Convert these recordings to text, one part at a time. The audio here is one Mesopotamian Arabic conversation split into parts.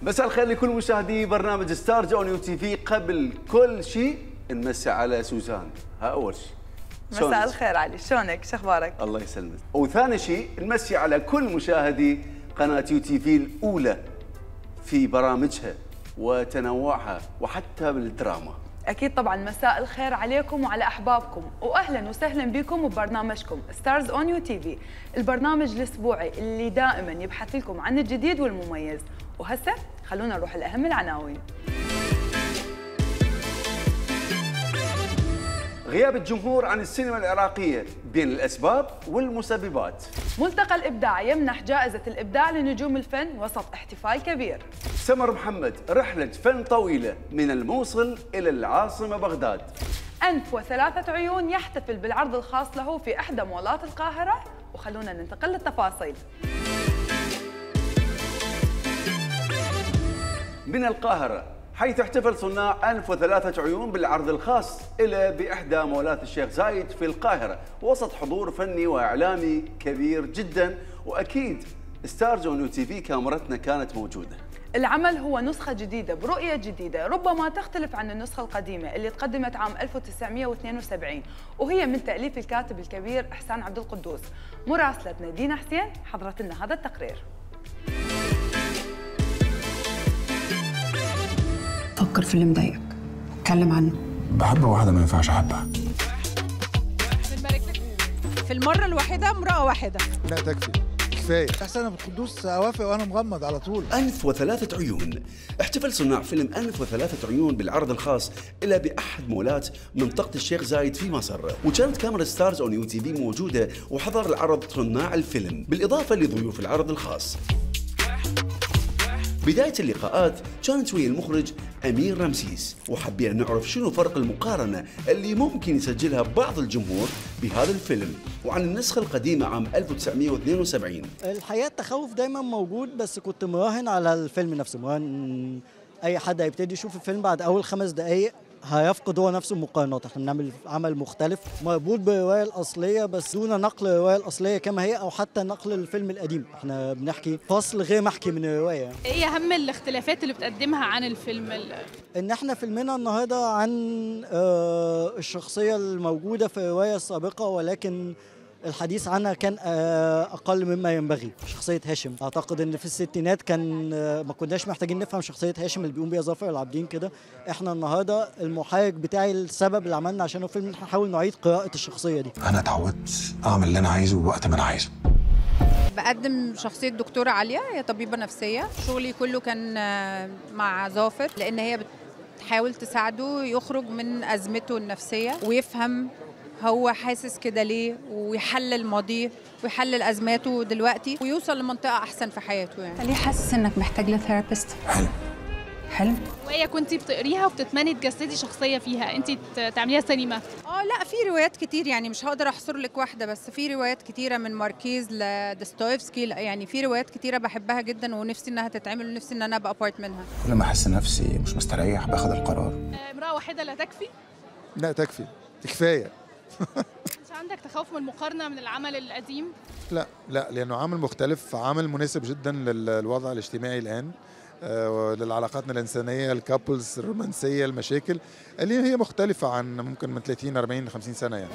مساء الخير لكل مشاهدي برنامج ستارز اون يو تي في. قبل كل شيء نمسي على سوزان، ها اول شيء. مساء الخير علي، شلونك؟ شو اخبارك؟ الله يسلمك. وثاني شيء نمسي على كل مشاهدي قناه يو تي في الاولى في برامجها وتنوعها وحتى بالدراما. اكيد طبعا مساء الخير عليكم وعلى احبابكم، واهلا وسهلا بكم ببرنامجكم ستارز اون يو تي في، البرنامج الاسبوعي اللي دائما يبحث لكم عن الجديد والمميز. وهسه خلونا نروح لاهم العناوين. غياب الجمهور عن السينما العراقية بين الأسباب والمسببات. ملتقى الإبداع يمنح جائزة الإبداع لنجوم الفن وسط احتفال كبير. سمر محمد رحلة فن طويلة من الموصل إلى العاصمة بغداد. أنف وثلاثة عيون يحتفل بالعرض الخاص له في إحدى مولات القاهرة، وخلونا ننتقل للتفاصيل. من القاهرة، حيث احتفل صناع أنف وثلاثة عيون بالعرض الخاص إلى بإحدى مولات الشيخ زايد في القاهرة وسط حضور فني وإعلامي كبير جدا، وأكيد ستارز اون يو تي في كاميرتنا كانت موجودة. العمل هو نسخة جديدة برؤية جديدة ربما تختلف عن النسخة القديمة اللي تقدمت عام 1972، وهي من تأليف الكاتب الكبير إحسان عبد القدوس. مراسلتنا دينا حسين حضرت لنا هذا التقرير. فكر في اللي مضايقك، اتكلم عنه. بحب واحدة ما ينفعش أحبها. في المرة الواحدة امرأة واحدة. لا تكفي، كفاية. إحسان عبد القدوس أوافق وأنا مغمض على طول. أنف وثلاثة عيون. احتفل صناع فيلم أنف وثلاثة عيون بالعرض الخاص إلى بأحد مولات منطقة الشيخ زايد في مصر، وكانت كاميرا ستارز اون يو تي في موجودة وحضر العرض صناع الفيلم بالإضافة لضيوف العرض الخاص. بداية اللقاءات كانت ويا المخرج أمير رمسيس، وحبينا نعرف شنو فرق المقارنة اللي ممكن يسجلها بعض الجمهور بهذا الفيلم وعن النسخة القديمة عام 1972. الحقيقة التخوف دايما موجود، بس كنت مراهن على الفيلم نفسه، مراهن أي حد هيبتدي يشوف الفيلم بعد أول 5 دقايق هيفقد هو نفسه المقارنات. احنا بنعمل عمل مختلف مربوط بالروايه الاصليه بس دون نقل الروايه الاصليه كما هي او حتى نقل الفيلم القديم. احنا بنحكي فصل غير محكي من الروايه. ايه اهم الاختلافات اللي بتقدمها عن الفيلم؟ ان احنا فيلمنا النهارده عن الشخصيه الموجوده في الروايه السابقه، ولكن الحديث عنها كان أقل مما ينبغي. شخصية هاشم أعتقد إن في الستينات كان ما كناش محتاجين نفهم شخصية هاشم اللي بيقوم بيها ظافر العابدين كده. إحنا النهاردة المحرك بتاعي السبب اللي عملنا عشانه فيلم نحاول نعيد قراءة الشخصية دي. أنا اتعودت أعمل اللي أنا عايزه وقت ما أنا عايزه. بقدم شخصية دكتورة عالية، هي طبيبة نفسية. شغلي كله كان مع ظافر لأن هي بتحاول تساعده يخرج من أزمته النفسية ويفهم هو حاسس كده ليه، ويحلل ماضيه ويحلل أزماته دلوقتي ويوصل لمنطقة أحسن في حياته. يعني ليه حاسس إنك محتاج لثيرابيست؟ حلم؟ وهي كنتي بتقريها وبتتمني تجسدي شخصية فيها، أنت تعمليها سينما؟ لا، في روايات كتير، يعني مش هقدر أحصر لك واحدة، بس في روايات كتيرة من ماركيز لدستويفسكي، يعني في روايات كتيرة بحبها جدا ونفسي إنها تتعمل ونفسي إن أنا أبقى بارت منها. كل ما أحس نفسي مش مستريح باخد القرار. امرأة واحدة لا تكفي؟ لا تكفي، كفاية. مش عندك تخوف من المقارنة من العمل القديم؟ لا، لأنه عمل مختلف، عمل مناسب جدا للوضع الاجتماعي الآن، للعلاقاتنا الإنسانية، الكابلز، الرومانسية، المشاكل اللي هي مختلفة عن ممكن من 30 40 50 سنة يعني.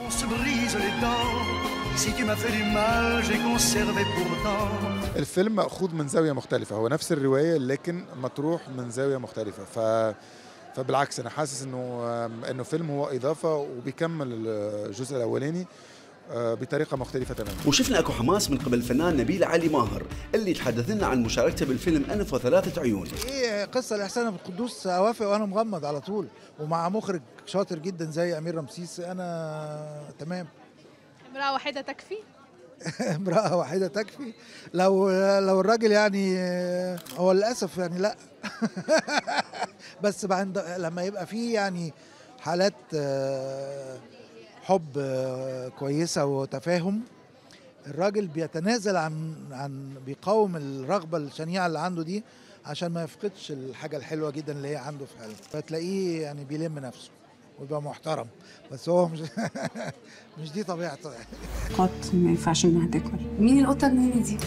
الفيلم مأخوذ من زاوية مختلفة، هو نفس الرواية لكن مطروح من زاوية مختلفة، فبالعكس أنا حاسس إنه فيلم هو إضافة وبيكمل الجزء الأولاني بطريقة مختلفة تماما. وشفنا اكو حماس من قبل الفنان نبيل علي ماهر اللي تحدث لنا عن مشاركته بالفيلم أنف وثلاثة عيون. ايه قصة لإحسان عبد القدوس أوافق وأنا مغمض على طول، ومع مخرج شاطر جدا زي أمير رمسيس أنا تمام. امرأة واحدة تكفي؟ امرأة واحدة تكفي؟ لو الراجل يعني هو للأسف يعني لا. بس لما يبقى فيه يعني حالات حب كويسة وتفاهم، الراجل بيتنازل عن بيقاوم الرغبة الشنيعة اللي عنده دي عشان ما يفقدش الحاجة الحلوة جدا اللي هي عنده في حياته، فتلاقيه يعني بيلم نفسه ويبقى محترم، بس هو مش دي طبيعته يعني. قط ما ينفعش انها تاكل. مين القطة النوني دي؟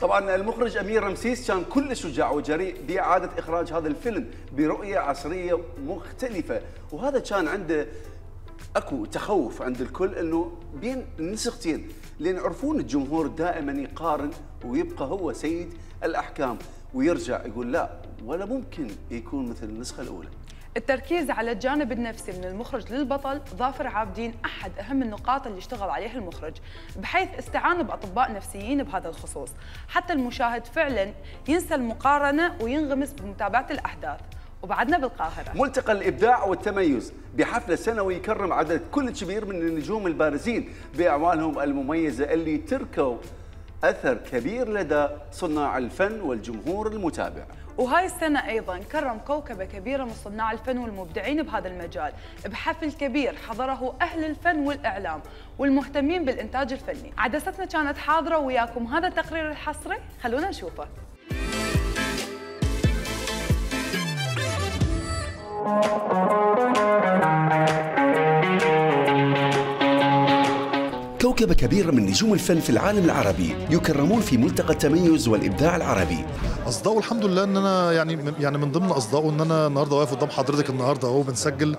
طبعا المخرج امير رمسيس كان كل شجاع وجريء باعاده اخراج هذا الفيلم برؤيه عصريه مختلفه، وهذا كان عنده اكو تخوف عند الكل انه بين النسختين، لان يعرفون الجمهور دائما يقارن ويبقى هو سيد الاحكام ويرجع يقول لا ولا ممكن يكون مثل النسخه الاولى. التركيز على الجانب النفسي من المخرج للبطل ظافر عابدين احد اهم النقاط اللي اشتغل عليها المخرج، بحيث استعان باطباء نفسيين بهذا الخصوص، حتى المشاهد فعلا ينسى المقارنه وينغمس بمتابعه الاحداث. وبعدنا بالقاهره ملتقى الابداع والتميز بحفله سنوي يكرم عدد كل كبير من النجوم البارزين باعمالهم المميزه اللي تركوا اثر كبير لدى صناع الفن والجمهور المتابع. وهاي السنة أيضاً كرم كوكبة كبيرة من صناع الفن والمبدعين بهذا المجال بحفل كبير حضره أهل الفن والإعلام والمهتمين بالإنتاج الفني. عدستنا كانت حاضرة وياكم هذا التقرير الحصري، خلونا نشوفه. كوكبة كبيرة من نجوم الفن في العالم العربي يكرمون في ملتقى التميز والإبداع العربي. أصدقوا الحمد لله إن أنا يعني من ضمن أصدقوا إن أنا النهارده واقف قدام حضرتك النهارده أهو بنسجل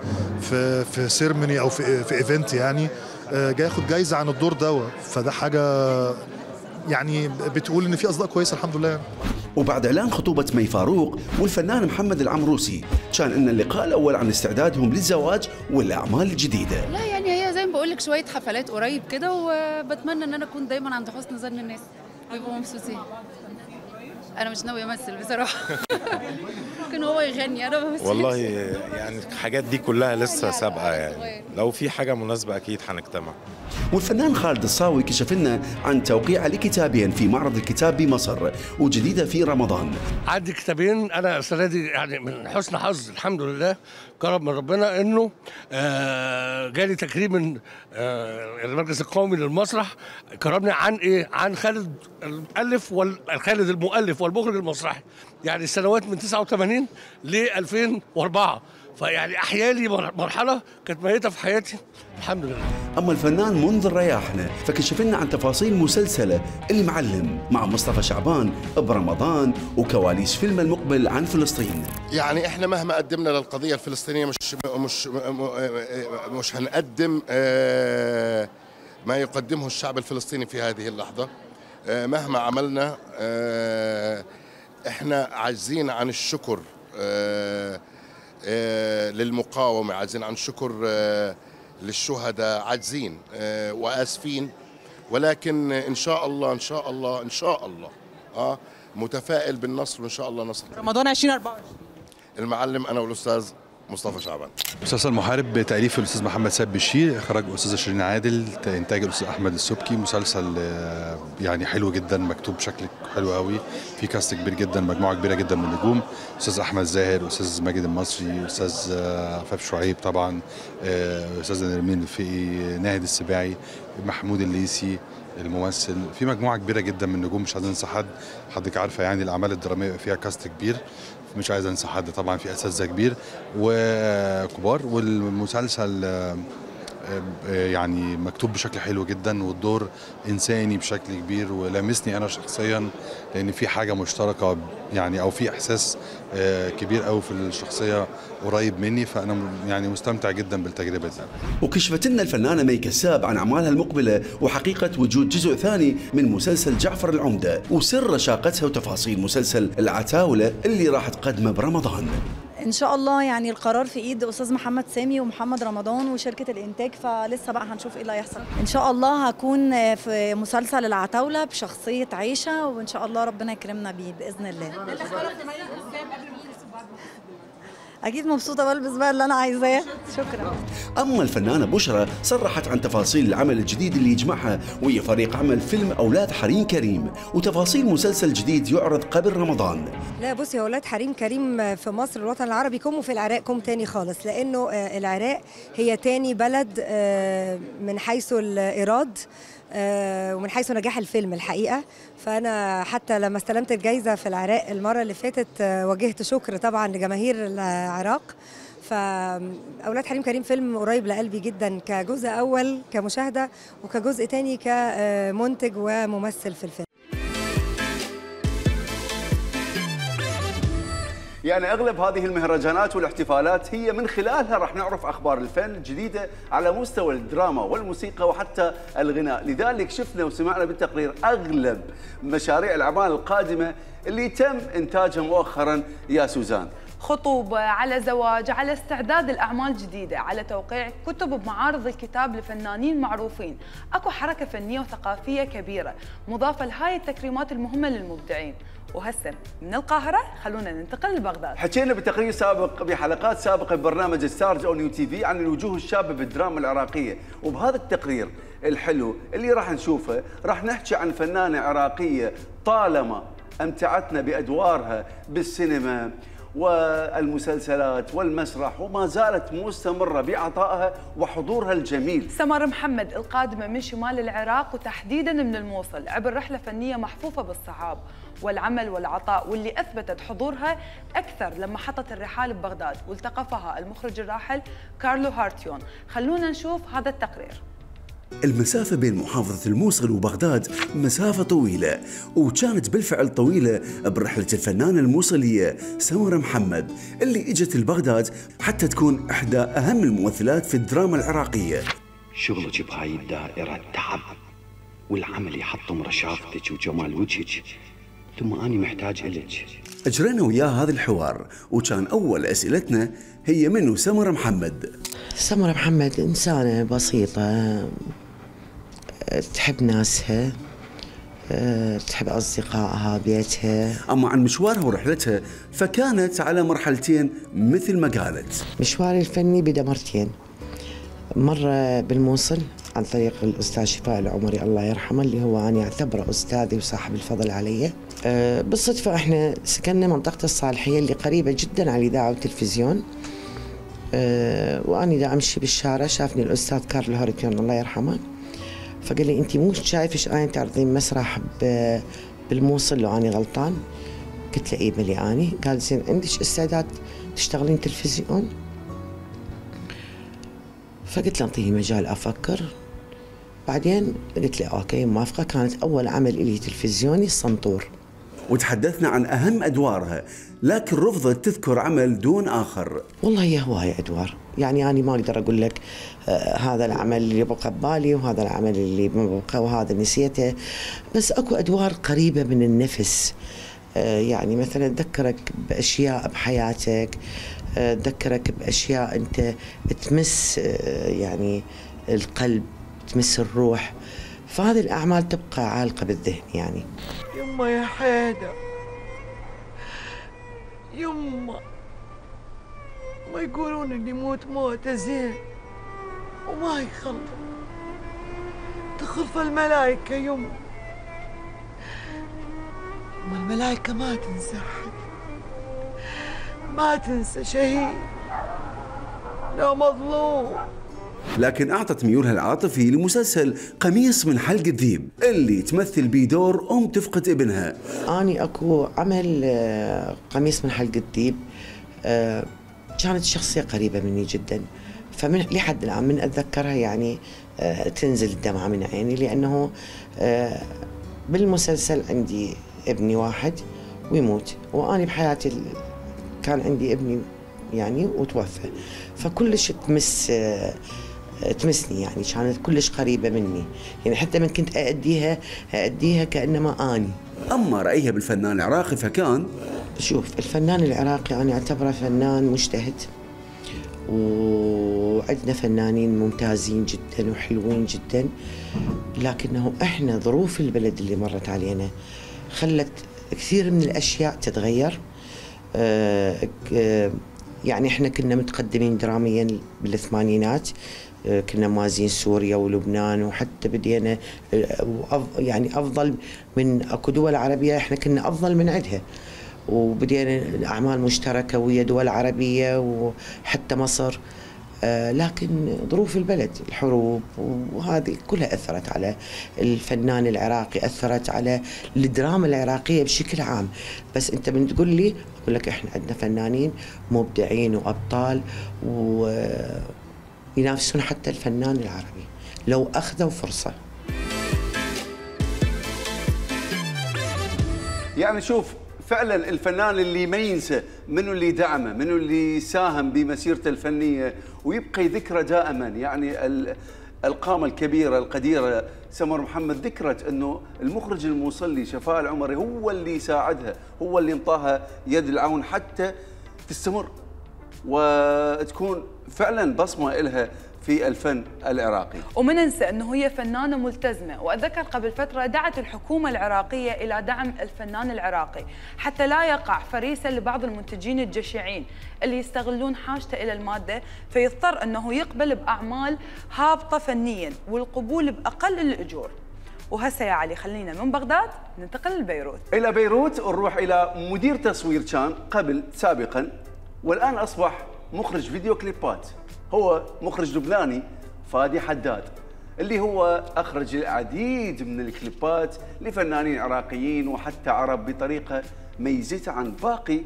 في سيرموني أو في إيفنت، يعني جاي آخد جايزة عن الدور دوت، فده حاجة يعني بتقول إن في أصدقاء كويسة الحمد لله. وبعد إعلان خطوبة مي فاروق والفنان محمد العمروسي كان إن اللقاء الأول عن استعدادهم للزواج والأعمال الجديدة. لا يعني هي زي ما بقول لك شوية حفلات قريب كده، وبتمنى إن أنا أكون دايما عند حسن ظن الناس ويبقوا مبسوطين. أنا مش ناوية أمثل بصراحة. ممكن هو يغني، أنا بمثل. والله يعني الحاجات دي كلها لسه سابقة، يعني لو في حاجة مناسبة أكيد هنجتمع. والفنان خالد الصاوي كشف لنا عن توقيع لكتابين في معرض الكتاب بمصر وجديدة في رمضان. عندي كتابين أنا السنة دي يعني من حسن حظ الحمد لله، كرم من ربنا إنه جالي تكريم من المركز القومي للمسرح، كرمني عن إيه؟ عن خالد المؤلف خالد المؤلف والمخرج المسرحي، يعني السنوات من 89 ل 2004، فيعني احيالي مرحله كانت ميته في حياتي الحمد لله. اما الفنان منذر رياحنا فكشف لنا عن تفاصيل مسلسله المعلم مع مصطفى شعبان برمضان وكواليس فيلم المقبل عن فلسطين. يعني احنا مهما قدمنا للقضيه الفلسطينيه مش هنقدم ما يقدمه الشعب الفلسطيني في هذه اللحظه. مهما عملنا احنا عاجزين عن الشكر للمقاومة، عاجزين عن الشكر للشهداء، عاجزين وآسفين، ولكن إن شاء الله إن شاء الله إن شاء الله متفائل بالنصر، وإن شاء الله نصر. رمضان 2024 المعلم أنا والأستاذ مصطفى شعبان. مسلسل محارب تأليف الأستاذ محمد سيد بشير، إخراج الأستاذة شيرين عادل، إنتاج الأستاذ أحمد السبكي. مسلسل يعني حلو جدا، مكتوب بشكل حلو قوي، في كاست كبير جدا، مجموعة كبيرة جدا من النجوم، أستاذ أحمد زاهر، أستاذ ماجد المصري، أستاذ عفاف شعيب طبعا، أستاذ نرمين الفقي، ناهد السباعي، محمود الليثي الممثل، في مجموعة كبيرة جدا من النجوم، مش عايز انسى حد، حضرتك عارفة يعني الأعمال الدرامية فيها كاست كبير، مش عايز انسى حد طبعا، في اساتذه كبير وكبار، والمسلسل يعني مكتوب بشكل حلو جدا، والدور انساني بشكل كبير ولامسني انا شخصيا، لان في حاجه مشتركه يعني، او في احساس كبير قوي في الشخصيه قريب مني، فانا يعني مستمتع جدا بالتجربه دي. وكشفت لنا الفنانه مي كساب عن اعمالها المقبله وحقيقه وجود جزء ثاني من مسلسل جعفر العمده، وسر رشاقتها وتفاصيل مسلسل العتاوله اللي راح تقدمه برمضان. ان شاء الله يعني القرار في ايد استاذ محمد سامي ومحمد رمضان وشركه الانتاج، فلسه بقى هنشوف ايه اللي هيحصل. ان شاء الله هكون في مسلسل العتاوله بشخصيه عيشه، وان شاء الله ربنا يكرمنا بيه باذن الله. اكيد مبسوطه بلبس بقى اللي انا عايزاه. شكرا. اما الفنانه بشرى صرحت عن تفاصيل العمل الجديد اللي يجمعها وهي فريق عمل فيلم اولاد حريم كريم، وتفاصيل مسلسل جديد يعرض قبل رمضان. لا بصي، اولاد حريم كريم في مصر الوطن العربي كوم، وفي العراق كوم تاني خالص، لانه العراق هي تاني بلد من حيث الايراد ومن حيث نجاح الفيلم الحقيقه. فانا حتى لما استلمت الجائزه في العراق المره اللي فاتت وجهت شكر طبعا لجماهير العراق. فاولاد حريم كريم فيلم قريب لقلبي جدا، كجزء اول كمشاهده، وكجزء تاني كمنتج وممثل في الفيلم. يعني اغلب هذه المهرجانات والاحتفالات هي من خلالها راح نعرف اخبار الفن الجديده على مستوى الدراما والموسيقى وحتى الغناء، لذلك شفنا وسمعنا بالتقرير اغلب مشاريع الاعمال القادمه اللي تم انتاجها مؤخرا يا سوزان. خطوبة، على زواج، على استعداد الأعمال جديدة، على توقيع كتب بمعارض الكتاب لفنانين معروفين. أكو حركة فنية وثقافية كبيرة مضافة لهاي التكريمات المهمة للمبدعين. وهسه من القاهرة خلونا ننتقل لبغداد. حكينا بتقرير سابق بحلقات سابقة ببرنامج ستارز أون يو تي في عن الوجوه الشابة بالدراما العراقية، وبهذا التقرير الحلو اللي راح نشوفه راح نحكي عن فنانة عراقية طالما أمتعتنا بأدوارها بالسينما والمسلسلات والمسرح وما زالت مستمرة بعطائها وحضورها الجميل. سمر محمد القادمة من شمال العراق وتحديدا من الموصل عبر رحلة فنية محفوفة بالصعاب والعمل والعطاء، واللي أثبتت حضورها أكثر لما حطت الرحال ببغداد والتقفها المخرج الراحل كارلو هارتيون. خلونا نشوف هذا التقرير. المسافة بين محافظة الموصل وبغداد مسافة طويلة، وكانت بالفعل طويلة برحلة الفنانة الموصلية سمر محمد اللي اجت لبغداد حتى تكون إحدى أهم الممثلات في الدراما العراقية. شغلك بهاي الدائرة تعب، والعمل يحطم رشاقتك وجمال وجهك، ثم أنا محتاج إلك. أجرينا وياه هذا الحوار، وكان أول أسئلتنا هي منو سمر محمد. سمر محمد إنسانة بسيطة تحب ناسها، تحب أصدقائها، بيتها. أما عن مشوارها ورحلتها فكانت على مرحلتين مثل ما قالت. مشواري الفني بدأ مرتين، مرة بالموصل عن طريق الأستاذ شفاء العمري الله يرحمه اللي هو أنا أعتبره أستاذي وصاحب الفضل علي. بالصدفة إحنا سكننا منطقة الصالحية اللي قريبة جدا على الإذاعة والتلفزيون. وأنا دا أمشي بالشارع شافني الأستاذ كارلو هارتيون الله يرحمه، فقال لي أنت مو شايفش أنا تعرضين مسرح بالموصل لو أنا غلطان؟ قلت له إيه بلي أني. قال زين عندك استعداد تشتغلين تلفزيون؟ فقلت له أعطيني مجال أفكر. بعدين قلت له أوكي موافقة. كانت أول عمل إلي تلفزيوني الصنطور. وتحدثنا عن أهم أدوارها، لكن رفضت تذكر عمل دون آخر. والله هي هواية أدوار، يعني أنا ما أقدر أقول لك هذا العمل اللي بقى ببالي وهذا العمل اللي ما بقى وهذا نسيته، بس أكو أدوار قريبة من النفس. يعني مثلا تذكرك بأشياء بحياتك، تذكرك بأشياء أنت تمس يعني القلب، تمس الروح، فهذه الأعمال تبقى عالقة بالذهن. يعني يما يا حيدر، يما ما يقولون اللي يموت موته زين وما يخلف، تخلف الملائكة يما. الملائكة ما تنسى أحد، ما تنسى شهيد لا مظلوم. لكن أعطت ميولها العاطفي لمسلسل قميص من حلق الذيب اللي تمثل بيه دور أم تفقد ابنها. أني أكو عمل قميص من حلق الذيب كانت شخصية قريبة مني جدا، فمن لحد الآن من أتذكرها يعني تنزل الدمعة من عيني، لأنه بالمسلسل عندي ابني واحد ويموت، وأنا بحياتي كان عندي ابني يعني وتوفى، فكلش تمسني، يعني كانت كلش قريبة مني، يعني حتى من كنت أأديها كأنما أني. أما رأيها بالفنان العراقي فكان شوف، الفنان العراقي أنا أعتبره فنان مجتهد، وعندنا فنانين ممتازين جدا وحلوين جدا، لكنه احنا ظروف البلد اللي مرت علينا خلت كثير من الأشياء تتغير. يعني احنا كنا متقدمين دراميا بالثمانينات، كنا موازين سوريا ولبنان، وحتى بدينا يعني افضل من اكو دول عربيه احنا كنا افضل من عندها، وبدينا اعمال مشتركه ويا دول عربيه وحتى مصر. لكن ظروف البلد، الحروب وهذه كلها أثرت على الفنان العراقي، أثرت على الدراما العراقية بشكل عام. بس أنت من تقول لي أقول لك إحنا عندنا فنانين مبدعين وأبطال وينافسون حتى الفنان العربي لو أخذوا فرصة. يعني شوف، فعلا الفنان اللي ما ينسى منو اللي دعمه، منو اللي ساهم بمسيرته الفنيه ويبقى ذكرى دائما. يعني القامه الكبيره القديره سمر محمد ذكرت انه المخرج المصلي شفاء العمري هو اللي ساعدها، هو اللي انطاها يد العون حتى تستمر وتكون فعلا بصمه لها في الفن العراقي. وما ننسى انه هي فنانه ملتزمه، واتذكر قبل فتره دعت الحكومه العراقيه الى دعم الفنان العراقي حتى لا يقع فريسه لبعض المنتجين الجشعين اللي يستغلون حاجته الى الماده فيضطر انه يقبل باعمال هابطه فنيا والقبول باقل الاجور. وهسه يا علي خلينا من بغداد ننتقل لبيروت. الى بيروت ونروح الى مدير تصوير كان قبل سابقا والان اصبح مخرج فيديو كليبات. هو مخرج لبناني فادي حداد اللي هو أخرج العديد من الكليبات لفنانين عراقيين وحتى عرب بطريقة ميزته عن باقي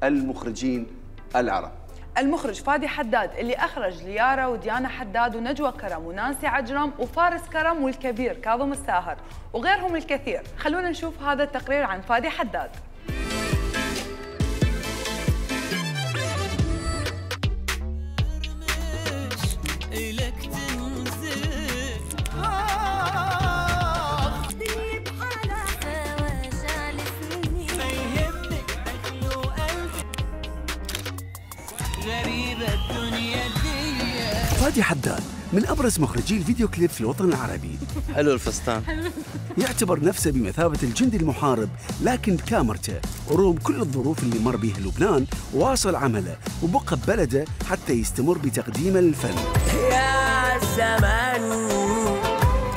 المخرجين العرب. المخرج فادي حداد اللي أخرج ليارا وديانا حداد ونجوى كرم ونانسي عجرم وفارس كرم والكبير كاظم الساهر وغيرهم الكثير. خلونا نشوف هذا التقرير عن فادي حداد. فادي حداد من أبرز مخرجي الفيديو كليب في الوطن العربي. حلو الفستان. يعتبر نفسه بمثابة الجندي المحارب لكن بكاميرته ورغم كل الظروف اللي مر بها لبنان واصل عمله وبقى ببلده حتى يستمر بتقديمه للفن. يا زمان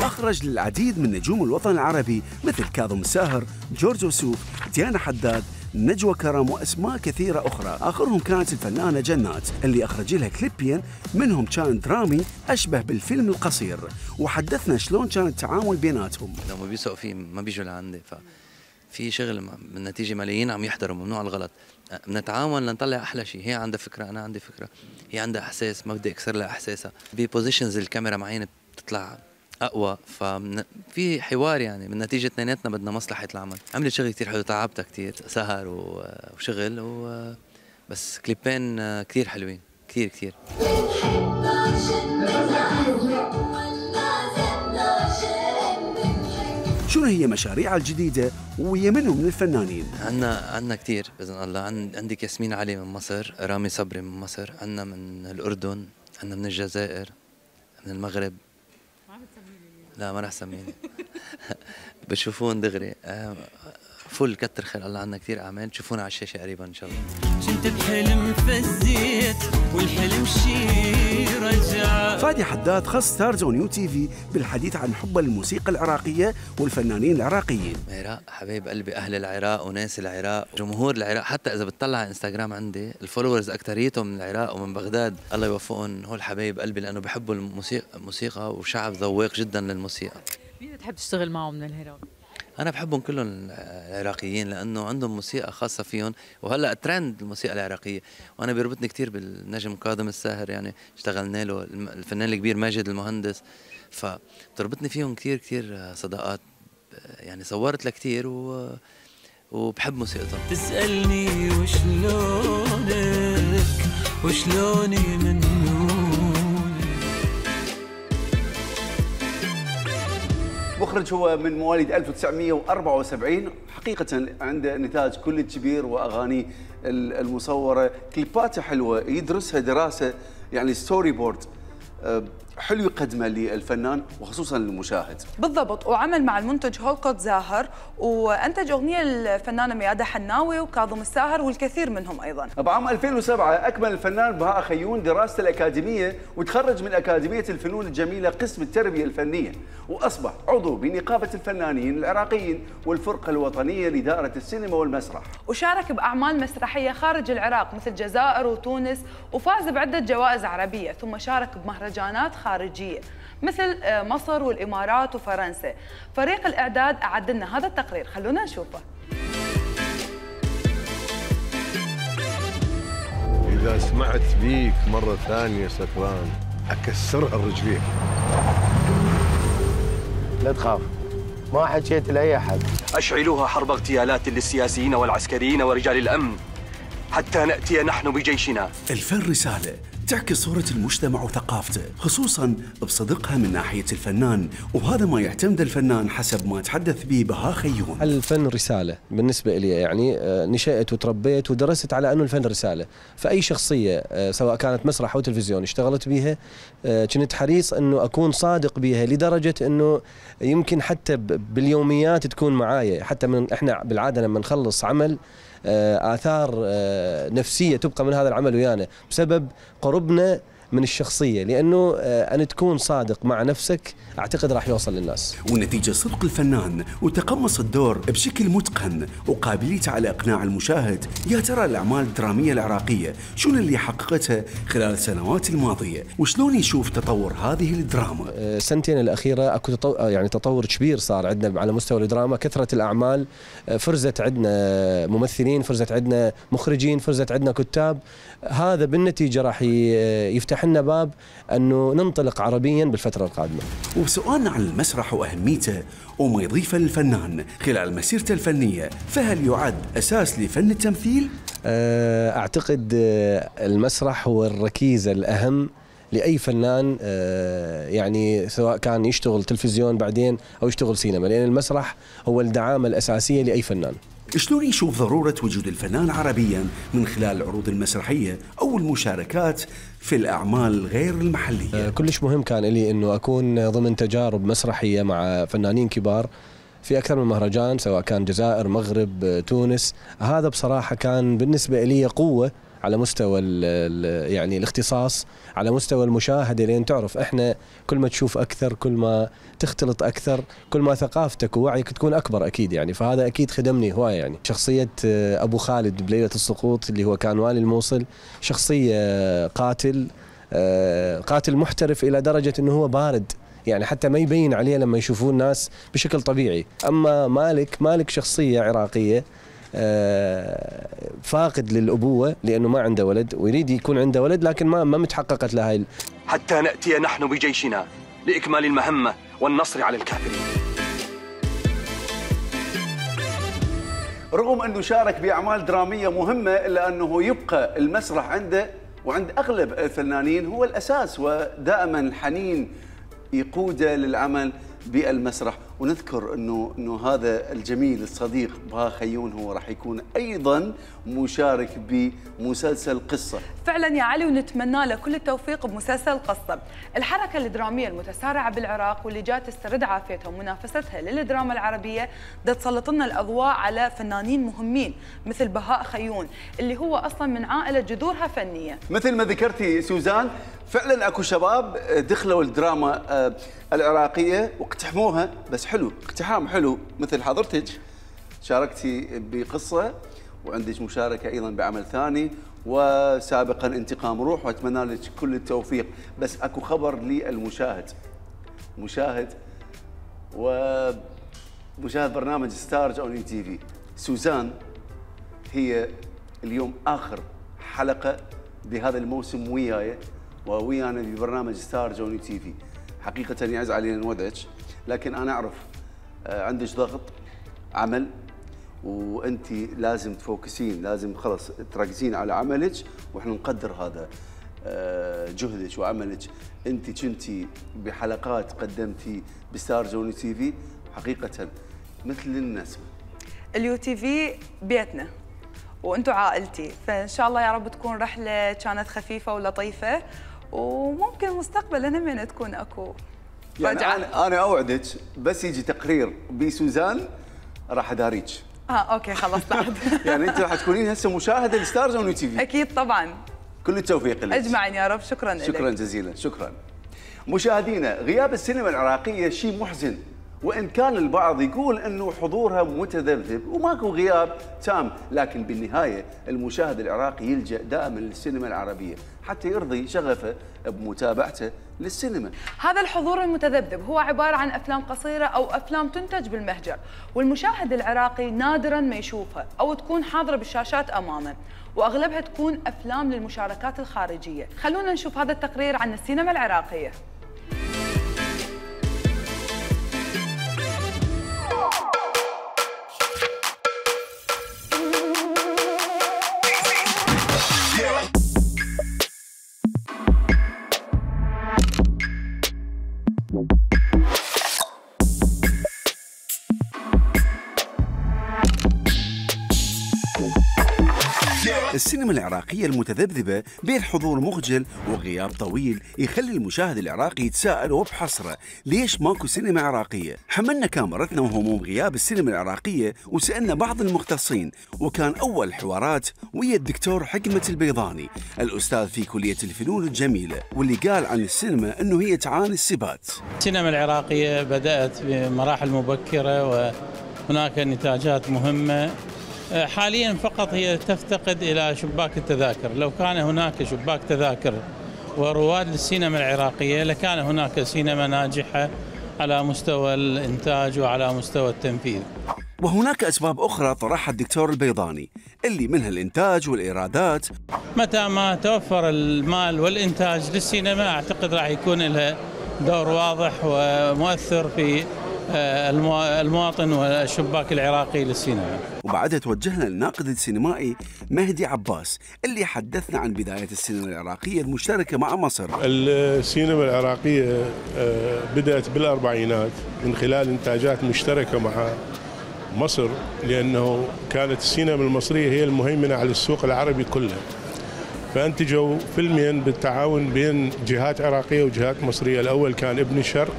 أخرج للعديد من نجوم الوطن العربي مثل كاظم الساهر، جورج وسوف، ديانا حداد، نجوى كرم وأسماء كثيرة أخرى. آخرهم كانت الفنانة جنات اللي أخرج لها كليبين منهم كان درامي أشبه بالفيلم القصير وحدثنا شلون كان التعامل بيناتهم. لو ما بيسوقوا فيه ما بيجوا لعندي ففي شغل من نتيجة ملايين عم يحضروا ممنوع الغلط. بنتعاون لنطلع أحلى شيء. هي عندها فكرة أنا عندي فكرة، هي عندها إحساس ما بدي أكسر لها إحساسها. ببوزيشنز الكاميرا معينة بتطلع اقوى ففي حوار يعني من نتيجه اثنيناتنا بدنا مصلحه العمل. عملت شغل كثير حلو تعبتها كثير سهر وشغل بس كليبين كثير حلوين كثير كثير. شنو هي مشاريعها الجديده وهي منهم من الفنانين؟ عندنا كثير باذن الله. عندك ياسمين علي من مصر، رامي صبري من مصر، عندنا من الاردن، عندنا من الجزائر، من المغرب. لا ما رح سميني. بتشوفون دغري فل كتر خير الله. عنا كثير اعمال تشوفونا على الشاشه قريبا ان شاء الله. كنت بحلم فزيت والحلم شي رجع. فادي حداد خص ستارز اون يو تي في بالحديث عن حبه للموسيقى العراقيه والفنانين العراقيين. العراق حبايب قلبي، اهل العراق وناس العراق، جمهور العراق. حتى اذا بتطلع على انستغرام عندي الفولورز اكثريتهم من العراق ومن بغداد. الله يوفقهم، هول حبايب قلبي لانه بحبوا الموسيقى وشعب ذواق جدا للموسيقى. مين بتحب تشتغل معه من العراق؟ أنا بحبهم كلهم العراقيين لأنه عندهم موسيقى خاصة فيهم، وهلأ ترند الموسيقى العراقية، وأنا بيربطني كثير بالنجم كاظم الساهر. يعني اشتغلنا له، الفنان الكبير ماجد المهندس، فبتربطني فيهم كثير كثير صداقات. يعني صورت له كثير وبحب موسيقتهم. تسألني وشلونك وشلوني من مخرج هو من مواليد 1974. حقيقة عنده نتاج كل كبير وأغانيه المصورة، كليباته حلوة، يدرسها دراسة يعني ستوري بورد حلو يقدمه للفنان وخصوصا للمشاهد. بالضبط. وعمل مع المنتج هولكوت زاهر وانتج اغنيه الفنانه ميادة حناوي وكاظم الساهر والكثير منهم ايضا. بعام 2007 اكمل الفنان بهاء خيون دراسته الاكاديميه وتخرج من اكاديميه الفنون الجميله قسم التربيه الفنيه، واصبح عضو بنقابه الفنانين العراقيين والفرقه الوطنيه لدائره السينما والمسرح. وشارك باعمال مسرحيه خارج العراق مثل الجزائر وتونس، وفاز بعده جوائز عربيه، ثم شارك بمهرجانات خارجيه مثل مصر والامارات وفرنسا. فريق الاعداد اعد لنا هذا التقرير، خلونا نشوفه. اذا سمعت بيك مره ثانيه سكران اكسرها الرجلين. لا تخاف، ما حكيت لاي احد. اشعلوها حرب اغتيالات للسياسيين والعسكريين ورجال الامن حتى ناتي نحن بجيشنا. الفن رساله تعكس صورة المجتمع وثقافته، خصوصاً بصدقها من ناحية الفنان، وهذا ما يعتمد الفنان حسب ما تحدث به بهاء خيون. الفن رسالة بالنسبة لي، يعني نشأت وتربيت ودرست على أنه الفن رسالة، فأي شخصية سواء كانت مسرح أو تلفزيون اشتغلت بيها كنت حريص أنه أكون صادق بيها، لدرجة أنه يمكن حتى باليوميات تكون معايا، حتى إحنا بالعادة لما نخلص عمل آثار نفسية تبقى من هذا العمل ويانا بسبب قربنا من الشخصية، لأنه أن تكون صادق مع نفسك أعتقد راح يوصل للناس. والنتيجة صدق الفنان وتقمص الدور بشكل متقن وقابليته على إقناع المشاهد. يا ترى الأعمال الدرامية العراقية شنو اللي حققتها خلال السنوات الماضية، وشلون يشوف تطور هذه الدراما؟ السنتين الأخيرة أكو يعني تطور كبير صار عندنا على مستوى الدراما، كثرة الأعمال، فرزت عندنا ممثلين، فرزت عندنا مخرجين، فرزت عندنا كتاب. هذا بالنتيجة راح يفتح لنا باب أنه ننطلق عربيا بالفترة القادمة. وسؤالنا عن المسرح وأهميته وما يضيفه للفنان خلال مسيرته الفنية، فهل يعد أساس لفن التمثيل؟ أعتقد المسرح هو الركيزة الأهم لأي فنان، يعني سواء كان يشتغل تلفزيون بعدين أو يشتغل سينما، لأن المسرح هو الدعامة الأساسية لأي فنان. شلون يشوف ضرورة وجود الفنان عربيا من خلال العروض المسرحية أو المشاركات في الأعمال غير المحلية؟ كلش مهم كان لي أنه أكون ضمن تجارب مسرحية مع فنانين كبار في أكثر من مهرجان، سواء كان جزائر، مغرب، تونس. هذا بصراحة كان بالنسبة لي قوة على مستوى يعني الاختصاص، على مستوى المشاهدة، لأن تعرف إحنا كل ما تشوف أكثر، كل ما تختلط أكثر، كل ما ثقافتك ووعيك تكون أكبر أكيد يعني. فهذا أكيد خدمني هواية يعني. شخصية أبو خالد بليلة السقوط اللي هو كان والي الموصل، شخصية قاتل محترف إلى درجة أنه هو بارد، يعني حتى ما يبين عليه لما يشوفون الناس بشكل طبيعي. أما مالك شخصية عراقية فاقد للأبوة لأنه ما عنده ولد ويريد يكون عنده ولد، لكن ما متحققت له هاي. حتى نأتي نحن بجيشنا لإكمال المهمة والنصر على الكافرين. رغم أنه شارك بأعمال درامية مهمة، إلا أنه يبقى المسرح عنده وعند أغلب الفنانين هو الأساس، ودائما الحنين يقوده للعمل بالمسرح. ونذكر انه هذا الجميل الصديق بهاء خيون هو راح يكون ايضا مشارك بمسلسل قصه. فعلا يا علي، ونتمنى له كل التوفيق بمسلسل قصه. الحركه الدراميه المتسارعه بالعراق واللي جات تسترد عافيتها ومنافستها للدراما العربيه تسلط لنا الاضواء على فنانين مهمين مثل بهاء خيون اللي هو اصلا من عائله جذورها فنيه. مثل ما ذكرتي سوزان، فعلا اكو شباب دخلوا الدراما العراقيه واقتحموها، بس حلو، اقتحام حلو. مثل حضرتك شاركتي بقصه وعندك مشاركه ايضا بعمل ثاني، وسابقا انتقام روح، واتمنى لك كل التوفيق. بس اكو خبر للمشاهد، مشاهد برنامج ستارز اون تي في. سوزان هي اليوم اخر حلقه بهذا الموسم وياي وويانا ببرنامج ستارز اون تي في. حقيقه يعز علينا نودعك، لكن انا اعرف عندك ضغط عمل وانت لازم تفوكسين، لازم خلص تركزين على عملك، واحنا نقدر هذا جهدك وعملك. انت كنتي بحلقات قدمتي بستارز اون تي في، حقيقه مثل النسمه. اليو تي في بيتنا وانتم عائلتي، فان شاء الله يا رب تكون رحله كانت خفيفه ولطيفه، وممكن مستقبلا همين تكون اكو يعني انا اوعدك بس يجي تقرير بسوزان راح اداريك. اوكي خلاص بعد. يعني انت راح تكونين هسه مشاهده لستارز اون تي في. اكيد طبعا. كل التوفيق لك. اجمعين يا رب. شكرا لك. شكرا جزيلا. شكرا. مشاهدينا، غياب السينما العراقيه شيء محزن، وان كان البعض يقول انه حضورها متذبذب وماكو غياب تام، لكن بالنهايه المشاهد العراقي يلجا دائما للسينما العربيه حتى يرضي شغفه بمتابعته للسينما. هذا الحضور المتذبذب هو عباره عن افلام قصيره او افلام تنتج بالمهجر، والمشاهد العراقي نادرا ما يشوفها او تكون حاضره بالشاشات امامه، واغلبها تكون افلام للمشاركات الخارجيه. خلونا نشوف هذا التقرير عن السينما العراقيه. السينما العراقية المتذبذبة بين حضور مخجل وغياب طويل يخلي المشاهد العراقي يتساءل وبحسرة ليش ماكو سينما عراقية؟ حملنا كاميرتنا وهموم غياب السينما العراقية وسألنا بعض المختصين، وكان أول حوارات ويا الدكتور حكمة البيضاني الأستاذ في كلية الفنون الجميلة، واللي قال عن السينما أنه هي تعاني السبات. السينما العراقية بدأت بمراحل مبكرة وهناك نتاجات مهمة. حاليا فقط هي تفتقد إلى شباك التذاكر. لو كان هناك شباك تذاكر ورواد للسينما العراقية لكان هناك سينما ناجحة على مستوى الإنتاج وعلى مستوى التنفيذ. وهناك أسباب أخرى طرحها الدكتور البيضاني اللي منها الإنتاج والإيرادات. متى ما توفر المال والإنتاج للسينما أعتقد راح يكون لها دور واضح ومؤثر في المواطن والشباك العراقي للسينما. وبعدها توجهنا للناقد السينمائي مهدي عباس اللي حدثنا عن بداية السينما العراقية المشتركة مع مصر. السينما العراقية بدأت بالأربعينات من خلال إنتاجات مشتركة مع مصر، لأنه كانت السينما المصرية هي المهيمنة على السوق العربي كله، فأنتجوا فيلمين بالتعاون بين جهات عراقية وجهات مصرية. الأول كان ابن الشرق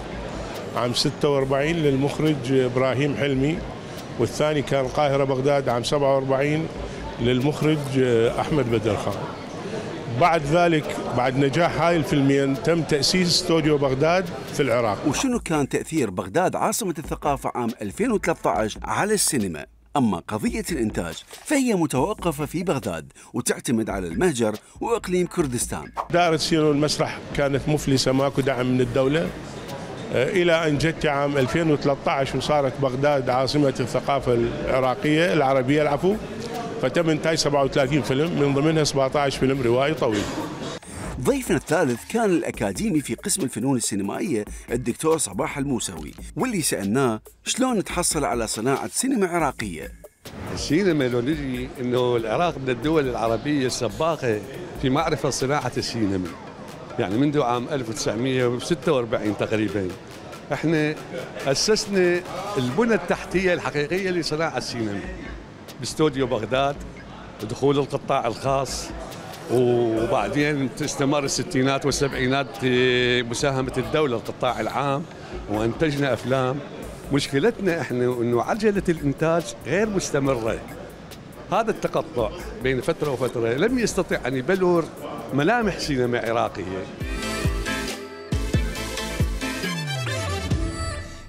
عام 46 للمخرج إبراهيم حلمي، والثاني كان القاهرة بغداد عام 47 للمخرج أحمد بدرخان. بعد ذلك بعد نجاح هاي الفيلمين تم تأسيس استوديو بغداد في العراق. وشنو كان تأثير بغداد عاصمة الثقافة عام 2013 على السينما؟ أما قضية الإنتاج فهي متوقفة في بغداد وتعتمد على المهجر وإقليم كردستان. دار السينما والمسرح كانت مفلسة، ماكو دعم من الدولة، إلى أن جت عام 2013 وصارت بغداد عاصمة الثقافة العراقية العربية العفو، فتم إنتاج 37 فيلم من ضمنها 17 فيلم روائي طويل. ضيفنا الثالث كان الأكاديمي في قسم الفنون السينمائية الدكتور صباح الموسوي، واللي سألناه شلون تحصل على صناعة سينما عراقية. السينما لو نجي إنه العراق من الدول العربية السباقة في معرفة صناعة السينما، يعني منذ عام 1946 تقريبا احنا أسسنا البنى التحتية الحقيقية لصناعة السينما باستوديو بغداد، ودخول القطاع الخاص، وبعدين استمر الستينات والسبعينات مساهمة الدولة القطاع العام وانتجنا أفلام. مشكلتنا احنا انه عجلة الانتاج غير مستمرة. هذا التقطع بين فترة وفترة لم يستطع ان يبلور ملامح سينما عراقية.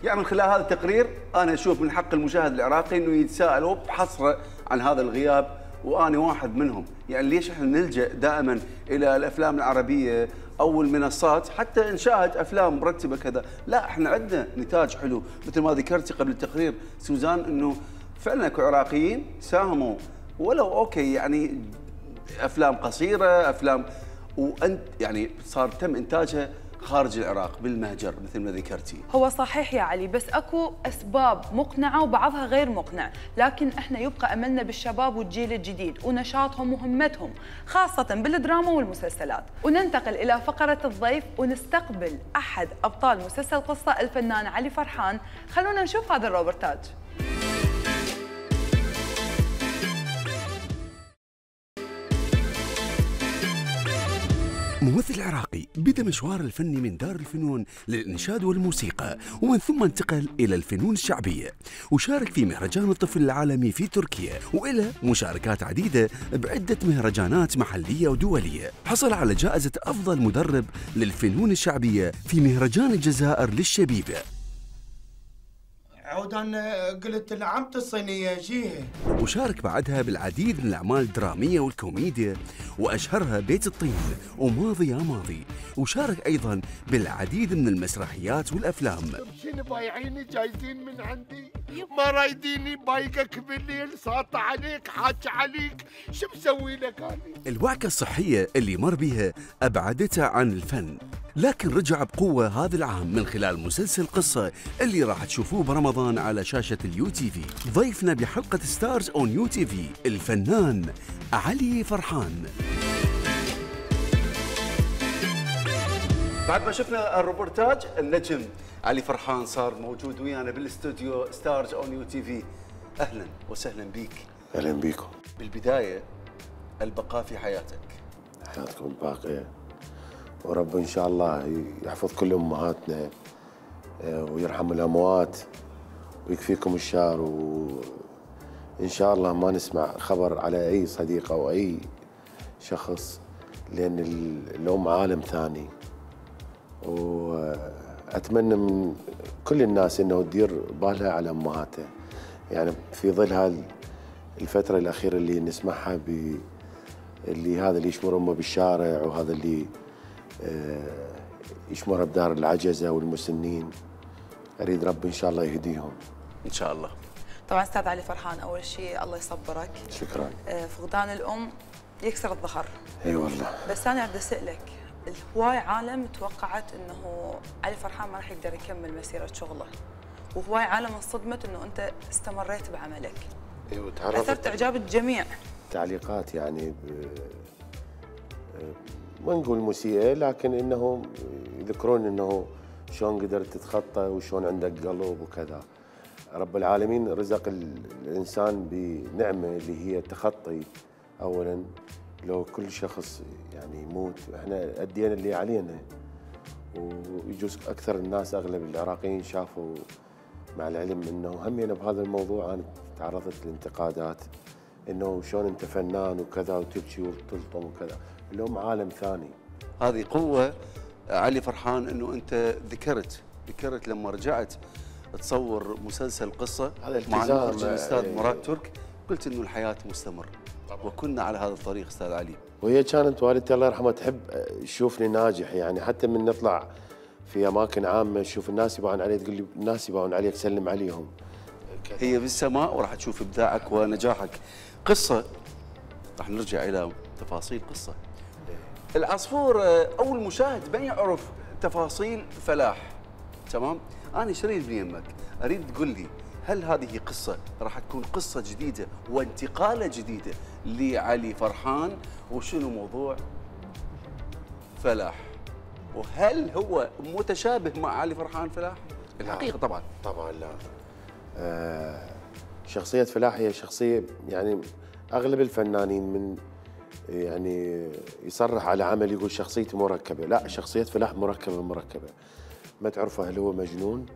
يعني من خلال هذا التقرير انا اشوف من حق المشاهد العراقي انه يتساءل وبحسره عن هذا الغياب، وانا واحد منهم. يعني ليش احنا نلجأ دائما الى الافلام العربيه او المنصات حتى نشاهد افلام مرتبه كذا؟ لا، احنا عندنا نتاج حلو مثل ما ذكرتي قبل التقرير سوزان، انه فعلا اكو عراقيين ساهموا ولو اوكي يعني افلام قصيره، افلام وانت يعني صار تم انتاجها خارج العراق بالمهجر مثل ما ذكرتي. هو صحيح يا علي، بس اكو اسباب مقنعه وبعضها غير مقنع، لكن احنا يبقى املنا بالشباب والجيل الجديد ونشاطهم وهمتهم خاصه بالدراما والمسلسلات. وننتقل الى فقره الضيف ونستقبل احد ابطال مسلسل قصه الفنان علي فرحان. خلونا نشوف هذا الروبرتاج. ممثل عراقي بدأ مشواره الفني من دار الفنون للإنشاد والموسيقى، ومن ثم انتقل إلى الفنون الشعبية، وشارك في مهرجان الطفل العالمي في تركيا، وإلى مشاركات عديدة بعدة مهرجانات محلية ودولية. حصل على جائزة أفضل مدرب للفنون الشعبية في مهرجان الجزائر للشبيبة. عودا قلت لعمت الصينية جيها. وشارك بعدها بالعديد من الأعمال الدرامية والكوميديا، وأشهرها بيت الطين وماضي يا ماضي. وشارك أيضا بالعديد من المسرحيات والأفلام. شنو بايعيني جايزين من عندي؟ ما رايديني بايقك بالليل، ساطع عليك حاج عليك، شو مسوي لك أنا؟ الوعكة الصحية اللي مر بها أبعدته عن الفن، لكن رجع بقوة هذا العام من خلال مسلسل قصة اللي راح تشوفوه برمضان على شاشة اليو تي في. ضيفنا بحلقة ستارز اون يو تي في الفنان علي فرحان. بعد ما شفنا الروبورتاج النجم علي فرحان صار موجود ويانا بالاستوديو ستارز اون يو تي في. اهلا وسهلا بيك. اهلا بيكم. بالبدايه البقاء في حياتك. حياتكم الباقيه، ورب ان شاء الله يحفظ كل امهاتنا ويرحم الاموات ويكفيكم الشر، وان شاء الله ما نسمع خبر على اي صديق او اي شخص، لان الام عالم ثاني. واتمنى من كل الناس انه تدير بالها على امهاتها، يعني في ظل هذه الفتره الاخيره اللي نسمعها اللي هذا اللي يشمر امه بالشارع، وهذا اللي يشمرها بدار العجزه والمسنين. اريد رب ان شاء الله يهديهم ان شاء الله. طبعا استاذ علي فرحان، اول شيء الله يصبرك. شكرا. فقدان الام يكسر الظهر. اي والله. بس انا بدي اسالك، هواي عالم توقعت انه علي فرحان ما راح يقدر يكمل مسيره شغله، وهواي عالم انصدمت انه انت استمريت بعملك. ايوه اثرت اعجاب الجميع. تعليقات يعني ما نقول مسيئه، لكن انه يذكرون انه شلون قدرت تتخطى وشلون عندك قلب وكذا. رب العالمين رزق الانسان بنعمه اللي هي التخطي. اولا لو كل شخص يعني يموت، احنا ادينا اللي علينا، ويجوز اكثر الناس اغلب العراقيين شافوا، مع العلم انه همينا بهذا الموضوع انا تعرضت لانتقادات انه شلون انت فنان وكذا وتبكي وتلطم وكذا. اليوم عالم ثاني. هذه قوه علي فرحان، انه انت ذكرت لما رجعت تصور مسلسل قصه مع المخرج الاستاذ مراد ترك، قلت انه الحياه مستمر وكنا على هذا الطريق استاذ علي. وهي كانت والدتي الله يرحمها تحب تشوفني ناجح، يعني حتى من نطلع في اماكن عامه تشوف الناس يبغون علي، تقول لي الناس يبغون عليك سلم عليهم. هي بالسماء وراح تشوف ابداعك ونجاحك. قصه راح نرجع الى تفاصيل قصه. العصفور اول مشاهد ما يعرف تفاصيل فلاح، تمام؟ انا شريد من يمك، اريد تقول لي هل هذه قصه راح تكون قصه جديده وانتقاله جديده لعلي فرحان، وشنو موضوع فلاح؟ وهل هو متشابه مع علي فرحان فلاح؟ الحقيقه طبعا لا. شخصيه فلاح هي شخصيه يعني اغلب الفنانين من يعني يصرح على عمل يقول شخصيتي مركبه، لا، شخصيه فلاح مركبه. ما تعرفه هل هو مجنون؟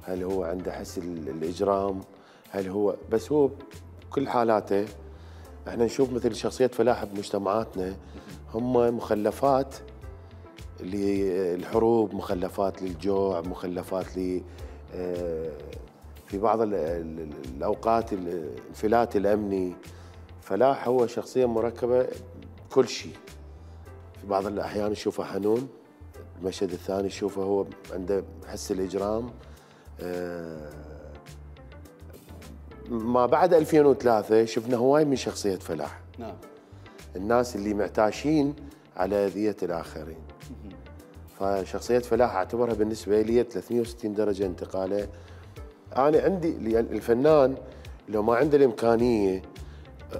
هل هو عنده حس الاجرام؟ هل هو بس هو بكل حالاته احنا نشوف مثل شخصيه فلاح بمجتمعاتنا هم مخلفات للحروب، مخلفات للجوع، مخلفات في بعض الاوقات الانفلات الامني. فلاح هو شخصيه مركبه كل شيء. في بعض الاحيان نشوفه حنون، المشهد الثاني نشوفه هو عنده حس الاجرام. ما بعد 2003 شفنا هواي من شخصيه فلاح. نعم. الناس اللي معتاشين على اذيه الاخرين. فشخصيه فلاح اعتبرها بالنسبه لي 360 درجه انتقاله. انا عندي الفنان لو ما عنده الامكانيه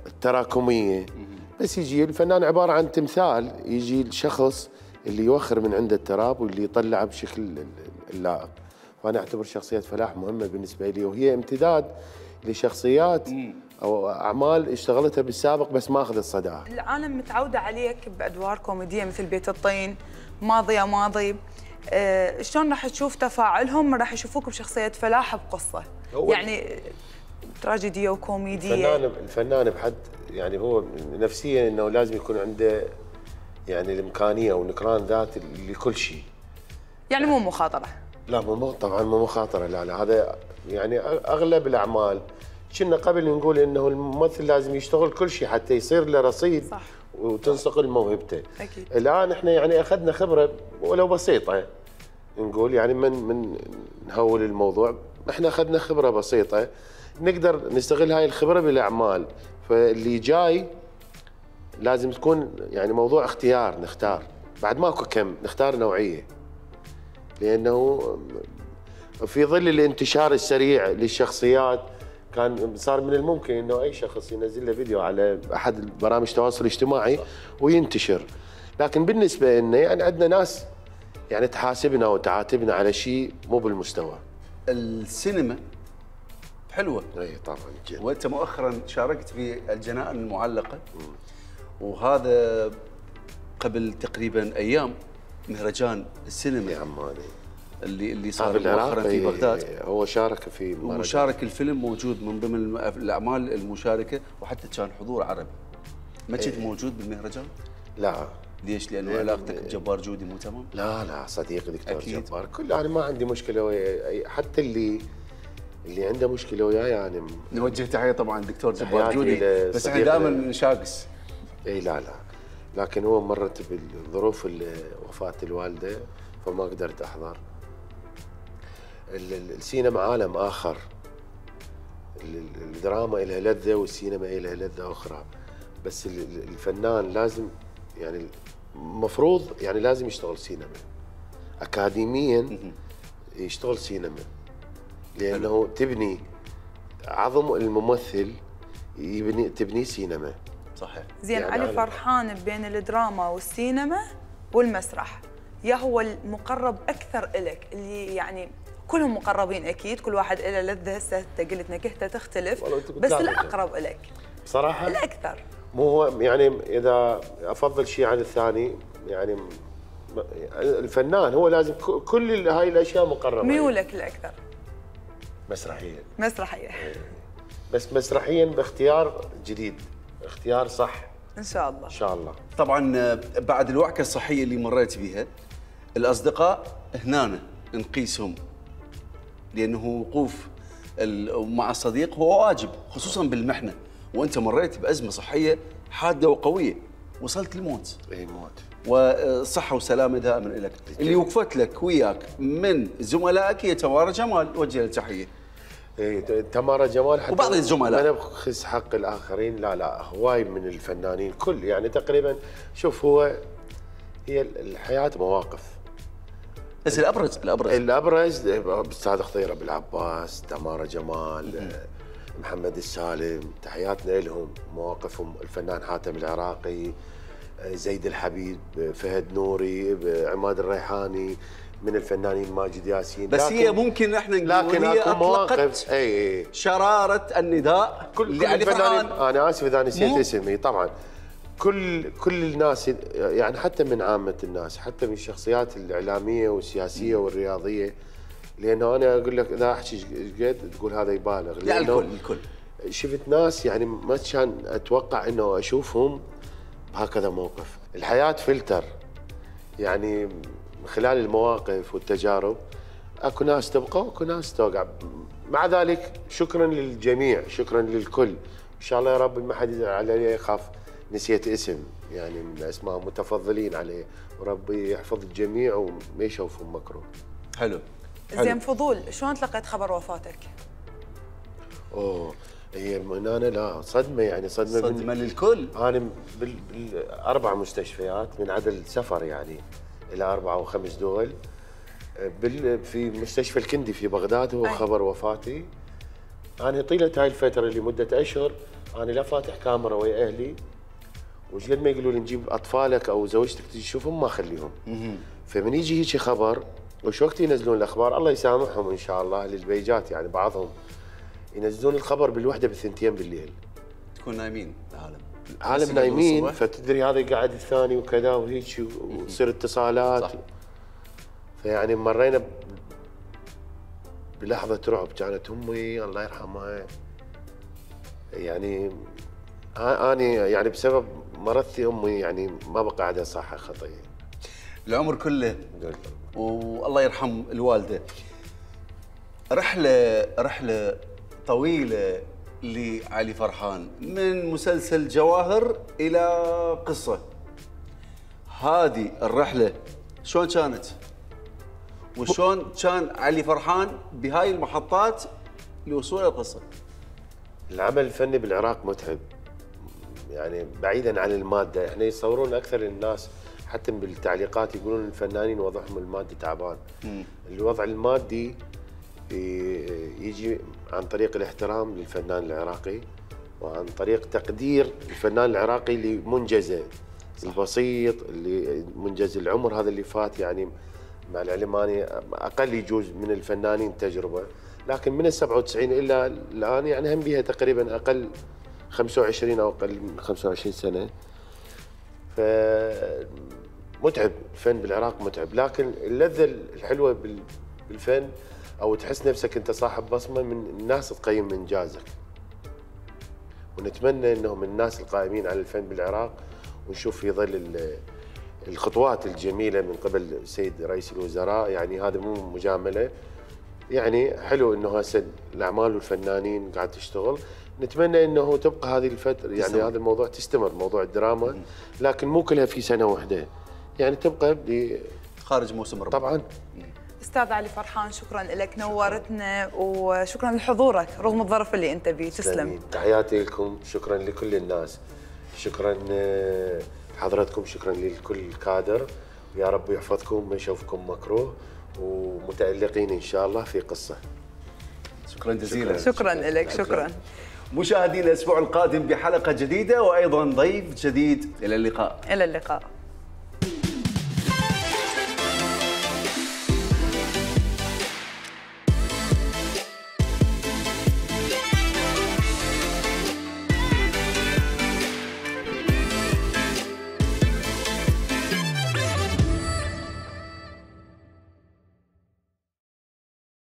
التراكميه، بس يجي الفنان عباره عن تمثال، يجي الشخص اللي يوخر من عنده التراب واللي يطلعه بشكل اللائق. فانا اعتبر شخصيه فلاح مهمه بالنسبه لي، وهي امتداد لشخصيات او اعمال اشتغلتها بالسابق بس ما اخذت صداها. العالم متعوده عليك بادوار كوميديه مثل بيت الطين، ماضي يا ماضي. شلون راح تشوف تفاعلهم؟ راح يشوفوك بشخصيه فلاح بقصه يعني تراجيديه وكوميديه. الفنان بحد يعني هو نفسيا انه لازم يكون عنده يعني الامكانيه ونكران ذات لكل شيء. يعني مو مخاطره. لا طبعا مو مخاطره، لا هذا يعني اغلب الاعمال كنا قبل نقول انه الممثل لازم يشتغل كل شيء حتى يصير له رصيد. صح. وتنصقل موهبته. اكيد. الان احنا يعني اخذنا خبره ولو بسيطه، نقول يعني من نهول الموضوع، احنا اخذنا خبره بسيطه نقدر نستغل هاي الخبره بالاعمال. فاللي جاي لازم تكون يعني موضوع اختيار، نختار بعد ماكو كم، نختار نوعيه، لانه في ظل الانتشار السريع للشخصيات كان صار من الممكن انه اي شخص ينزل له فيديو على احد برامج التواصل الاجتماعي وينتشر. لكن بالنسبه لنا يعني عندنا ناس يعني تحاسبنا وتعاتبنا على شيء مو بالمستوى. السينما حلوه. اي طبعا. وانت مؤخرا شاركت في الجنائن المعلقه، وهذا قبل تقريبا ايام مهرجان السينما يا عماني اللي صار مؤخرا في بغداد. هو شارك في وشارك الفيلم موجود من ضمن الاعمال المشاركه، وحتى كان حضور عربي. ما كنت موجود بالمهرجان؟ لا. ليش؟ لانه علاقتك بجبار جودي مو تمام؟ لا صديقي دكتور جبار، انا ما عندي مشكله وياه، حتى اللي عنده مشكله وياه يعني نوجه تحيه طبعا دكتور جبار جودي، بس احنا دائما نشاقس. اي لا لكن هو مرت بالظروف وفاه الوالده فما قدرت احضر. السينما عالم اخر، الدراما لها لذه والسينما لها لذه اخرى، بس الفنان لازم يعني مفروض يعني لازم يشتغل سينما اكاديميا، يشتغل سينما، لانه تبني عظم الممثل، تبني سينما. صحيح. زين يعني علي فرحان بين الدراما والسينما والمسرح، يا هو المقرب اكثر الك اللي يعني كلهم مقربين اكيد، كل واحد له لذه، هسه انت قلت نكهته تختلف، بس الاقرب الك بصراحه الاكثر. مو هو يعني اذا افضل شيء عن الثاني، يعني الفنان هو لازم كل هاي الاشياء مقربه. ميولك الاكثر؟ مسرحيا. بس مسرحيا باختيار جديد، اختيار صح ان شاء الله. ان شاء الله. طبعا بعد الوعكه الصحيه اللي مريت بها، الاصدقاء هنا نقيسهم، لانه وقوف مع الصديق هو واجب، خصوصا بالمحنه، وانت مريت بازمه صحيه حاده وقويه، وصلت للموت. اي موت. والصحه والسلامه دائما لك. اللي وقفت لك وياك من زملائك هي تمارا جمال، وجه لها تحيه. تمارا جمال حتى وبعض الزملاء. انا بخص حق الاخرين، لا هواي من الفنانين كل يعني تقريبا. شوف هي الحياه مواقف، بس الابرز استاذ خضيره بالعباس، تمارا جمال، محمد السالم، تحياتنا لهم، مواقفهم. الفنان حاتم العراقي، زيد الحبيب، فهد نوري، عماد الريحاني، من الفنانين ماجد ياسين. بس هي ممكن احنا نقول هي اطلقت شراره النداء كل الفنانين. انا اسف اذا نسيت اسمي طبعا. كل الناس يعني حتى من عامه الناس، حتى من الشخصيات الاعلاميه والسياسيه والرياضيه، لانه انا اقول لك اذا احكي قد تقول هذا يبالغ، لا الكل شفت ناس يعني ما كان اتوقع انه اشوفهم بهكذا موقف. الحياه فلتر، يعني من خلال المواقف والتجارب اكو ناس تبقى واكو ناس توقع. مع ذلك شكرا للجميع، شكرا للكل، ان شاء الله يا رب ما حد يزعل علي، يخاف نسيت اسم يعني من اسماء متفضلين عليه، وربي يحفظ الجميع وما يشوفهم مكروه. حلو. زين فضول، شلون تلقيت خبر وفاتك؟ هي المنانه لا صدمه، يعني صدمه للكل. انا بالاربع مستشفيات من عدل سفر يعني الى 4 و5 دول. في مستشفى الكندي في بغداد هو خبر وفاتي. انا طيله هاي الفتره اللي مده اشهر انا لا فاتح كاميرا ويا اهلي، وش قد ما يقولوا لي نجيب اطفالك او زوجتك تجي تشوفهم ما اخليهم. فمن يجي هيك خبر، وش وقت ينزلون الاخبار الله يسامحهم ان شاء الله للبيجات، يعني بعضهم ينزلون الخبر بالوحده بالثنتين بالليل. تكون نايمين العالم نايمين، فتدري هذا قاعد الثاني وكذا وهيك، وتصير اتصالات. صح. فيعني مرينا بلحظه رعب. كانت امي الله يرحمها يعني اني يعني بسبب مرضتي امي يعني ما بقى عندها صحه خطيه. العمر كله والله يرحم الوالده. رحله طويله لعلي فرحان، من مسلسل جواهر الى قصه. هذه الرحله شلون كانت؟ وشلون كان علي فرحان بهاي المحطات لوصول القصه؟ العمل الفني بالعراق متعب، يعني بعيدا عن الماده. احنا يصورون اكثر الناس حتى بالتعليقات يقولون الفنانين وضعهم المادي تعبان. الوضع المادي يجي عن طريق الاحترام للفنان العراقي، وعن طريق تقدير الفنان العراقي لمنجزه البسيط، اللي منجز العمر هذا اللي فات. يعني مع العلم اني اقل يجوز من الفنانين تجربه، لكن من ال97 الى الان يعني هم بيها تقريبا اقل 25 او اقل من 25 سنه. متعب الفن بالعراق متعب، لكن اللذه الحلوه بالفن او تحس نفسك انت صاحب بصمه من الناس تقيم انجازك. ونتمنى انه من الناس القائمين على الفن بالعراق ونشوف في ظل الخطوات الجميله من قبل السيد رئيس الوزراء، يعني هذا مو مجامله، يعني حلو انه هسه الاعمال والفنانين قاعد تشتغل. نتمنى انه تبقى هذه الفتره يعني هذا الموضوع تستمر، موضوع الدراما، لكن مو كلها في سنه واحده، يعني تبقى خارج موسم رمضان. طبعا. استاذ علي فرحان شكرا لك، نورتنا وشكرا لحضورك رغم الظرف اللي انت بيه. تسلم. تحياتي لكم، شكرا لكل الناس، شكرا حضرتكم، شكرا لكل الكادر، ويا رب يحفظكم ما يشوفكم مكروه ومتألقين ان شاء الله في قصه. شكرا جزيلا. شكرا لك. شكرا. مشاهدينا الاسبوع القادم بحلقه جديده وايضا ضيف جديد. الى اللقاء. الى اللقاء.